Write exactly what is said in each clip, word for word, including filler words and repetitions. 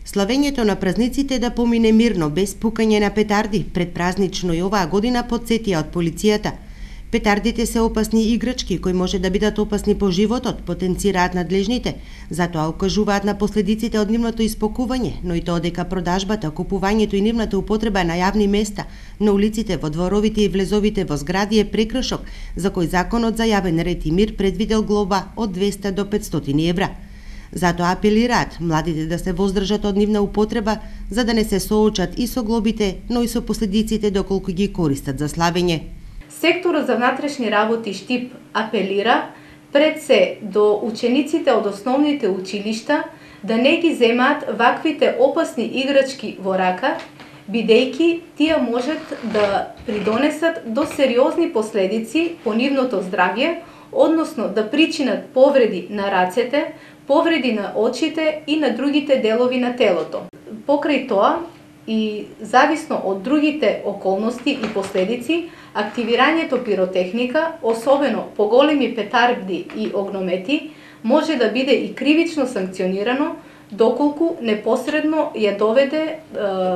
Славењето на празниците да помине мирно, без пукање на петарди, предпразнично и оваа година потсетија од полицијата. Петардите се опасни играчки кои може да бидат опасни по животот, потенцираат надлежните, затоа укажуваат на последиците од нивното испокување, но и тоа дека продажбата, купувањето и нивната употреба на јавни места, на улиците, во дворовите и влезовите во згради е прекршок, за кој Законот за јавен ред и мир предвидел глоба од двеста до петстотини евра. Затоа апелираат младите да се воздржат од нивна употреба, за да не се соочат и со глобите, но и со последиците доколку ги користат за славење. Секторот за внатрешни работи Штип апелира пред се до учениците од основните училишта да не ги земаат ваквите опасни играчки во рака, бидејќи тие можат да придонесат до сериозни последици по нивното здравје, односно да причинат повреди на рацете, повреди на очите и на другите делови на телото. Покрај тоа, и зависно од другите околности и последици, активирањето пиротехника, особено поголеми петарди и огномети, може да биде и кривично санкционирано, доколку непосредно ја доведе е,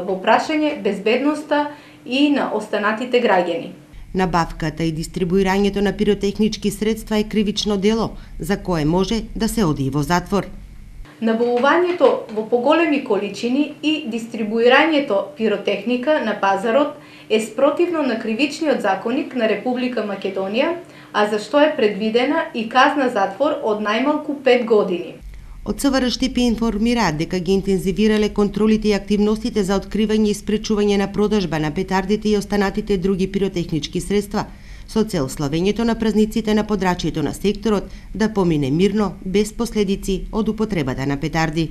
во прашање безбедноста и на останатите граѓани. Набавката и дистрибуирањето на пиротехнички средства е кривично дело, за кое може да се оди во затвор. Набавувањето во поголеми количини и дистрибуирањето пиротехника на пазарот е спротивно на кривичниот законник на Република Македонија, а за што е предвидена и казна затвор од најмалку пет години. Од ЦВР Штип информираат дека ги интензивирале контролите и активностите за откривање и спречување на продажба на петардите и останатите други пиротехнички средства, со цел славењето на празниците на подрачјето на секторот да помине мирно, без последици од употребата на петарди.